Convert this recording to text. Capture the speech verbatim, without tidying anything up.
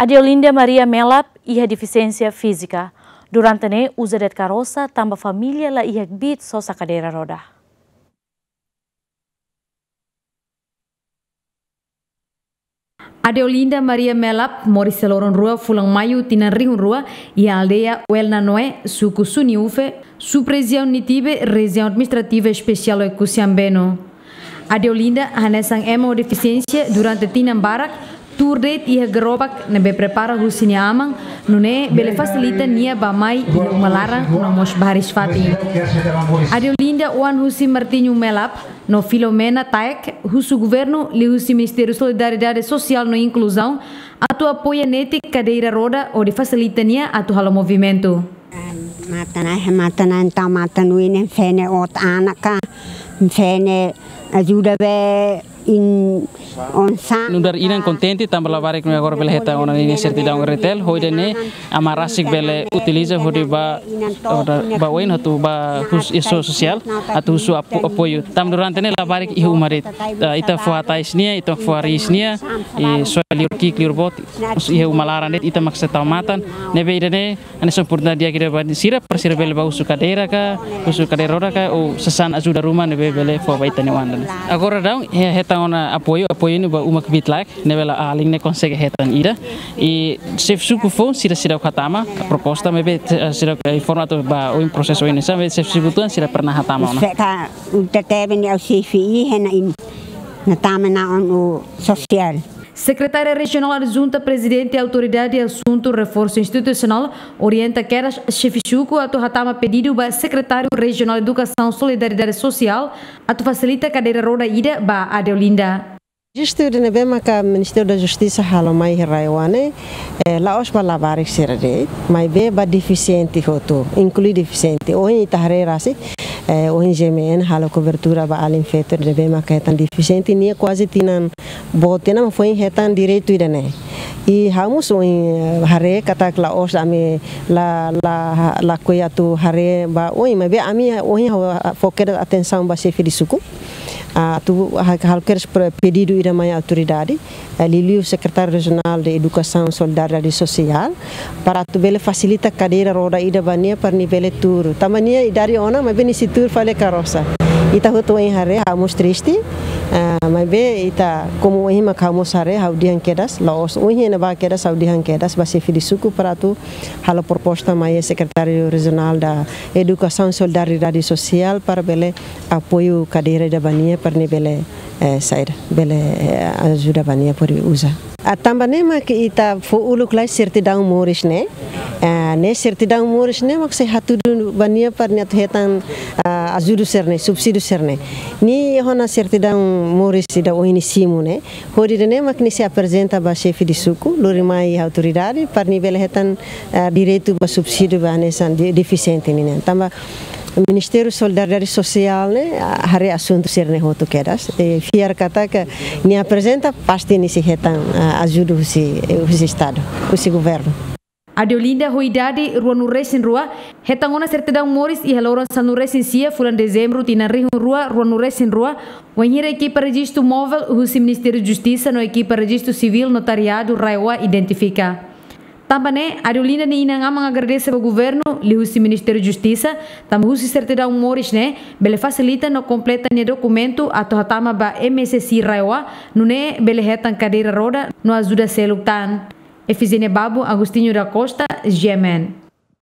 Adeolinda Maria Melap iha defisiénsia fízika. Durante ne'e uza de'it karosa tanba família la iha kbiit sosa kadeira roda. Adeolinda Maria Melap moris iha loron rua fulan Maiu tinan rihun rua iha aldeia Uelnanoe, suku Suniufe, subrejiaun Nitibe, rejiaun administrativa espesiál Oekusi-Ambeno. Adeolinda hanesan ema ho defisiénsia durante tinan barak tuur de'it iha gerobak ne'ebé prepara husi nia aman, nune'e bele fasilita nia bá-mai iha uma laran no mós baris fatin. Adeolinda oan husi Martinho Melap no Filomena Taek, husu governu liuhusi Ministériu Solidariedade Sosiál no Inkluzaun atu apoia netik kadeira roda hodi fasilita nia atu halo movimentu. Matan ai, matan ai, entaun matan uinen fene ot anaka, fene ajuda be in onsa. Nu'udar inan kontente tanba labarik ne'e agora bele hetan ona ninia sertidaun R T L, hodi nune'e aman rasik bele utiliza hodi bá, bá oin atu bá husu iha sosiál, atu husu apo-, apoiu. Tanba durante ne'e labarik iha uma de'it. Ah, ita fó hatais nia, ita fó hariis nia, i soe liur ki'ik liur boot, iha uma laran de'it, ita mak sei tau matan, ne'ebé ida-ne'e hanesan oportunidade di'ak ida ba sira, para sira bele bá husu kadeira ka, husu kadeira roda ka, ou sasán ajuda ruma ne'ebé bele fó ba ita-nia oan ida-ne'e. Agora daudaun, he-, hetan ona apoiu, apoiu ne'e ba uma kbiit laek, ne'ebé la alin ne'e konsege hetan ida. I xefe suku foun sira seidauk hatama proposta, maibé, eh, seidauk, eh, informa atu bá oin prosesu oin sa, maibé xefe suku tuan sira pernah hatama ona. Feta, uta tebe ni au xefe i hena in. Na tama na on o sosiál. Sekretária Rejionál Adjunta Prezidente Autoridade Asuntu Reforsu Institusionál orienta kedas xefe suku atu hatama pedidu ba Sekretáriu Rejionál Edukasaun Solidariedade Sosiál atu fasilita kadeira roda ida ba Adeolinda. Justu ida ne'ebé maka Ministériu da Justisa halo mai iha RAEOA ne'e, eh, la'ós ba labarik sira de'it, maibé ba defisiente hotu, inklui defisiente. Ohin ita haree rasik, eh, ohin G M N halo kobertura ba alin feto ida ne'ebé maka hetan defisiente, nia kuaze tinan boot tiha ona mak foin hetan direitu ida-ne'e. I ha'u mós ohin, eh, haree katak la'ós ami la, la, lakohi atu haree ba oin, maibé ami ohin ha'u, ah, fó kedas atensaun ba xefe de suku. Ah, atu ha-, halo kedas pre-, pedidu ida mai autoridade, eh, liuliu Sekretáriu Rejionál de Edukasaun Solidariedade Sosiál, para atu bele fasilita kadeira roda ida ba nia para nia bele tuur. Tanba nia idade ona, maibé nia sei tuur fali karosa. Ita hotu ohin haree, ha'u mós triste, ah, maibé ita, komu ohin mak ha'u mós haree, ha'u dehan kedas, la'ós ohin ne'ebá kedas, ha'u dehan kedas ba xefe de suku para atu halo proposta mai Sekretáriu Rejionál da Edukasaun Solidariedade Sosiál para bele apoiu kadeira ida ba nia para nia bele, eh, saida, bele, eh, ajuda ba nia hodi uza. Ah, tanba ne'e mak ita fó uluk lai sertidaun moris ne'e. Ah, ne'e sertidaun moris ne'e mak sei hatudu ba nia para nia atu hetan, ah, ajudu sira-ne'e, subsídiu sira-ne'e. Nia iha ona sertidaun moris ida ohin nia simu ne'e. Hodi ida-ne'e mak nia sei aprezenta ba xefe de suku, lori mai autoridade, para nia bele hetan, ah, direitu ba subsídiu ba hanesan de-, defisiente nian. Tanba Ministériu Solidariedade Sosiál ne'e, ah, haree asuntu sira-ne'e hotu kedas. I fiar katak nia aprezenta pasti nia sei hetan, ah, ajuda husi, husi Estadu, husi governu. Adeolinda ho idade ruanulu-resin-rua, hetan ona sertidaun moris iha loron sanulu-resin-sia fulan Dezembru tinan rihun rua ruanulu-resin-rua, wainhira ekipa rejistu móvel husi Ministériu Justisa no ekipa rejistu sivíl notariadu RAEOA identifika. Tanba ne'e, Adeolinda nia inan-aman agradese ba governu, liuhusi Ministériu Justisa, tanba husi sertidaun moris ne'e, bele fasilita no kompleta nia dokumentu atu hatama ba M S S I RAEOA, nune'e bele hetan kadeira roda no ajuda seluk tan. Efigénia Babo, Agostinho da Costa, G M N.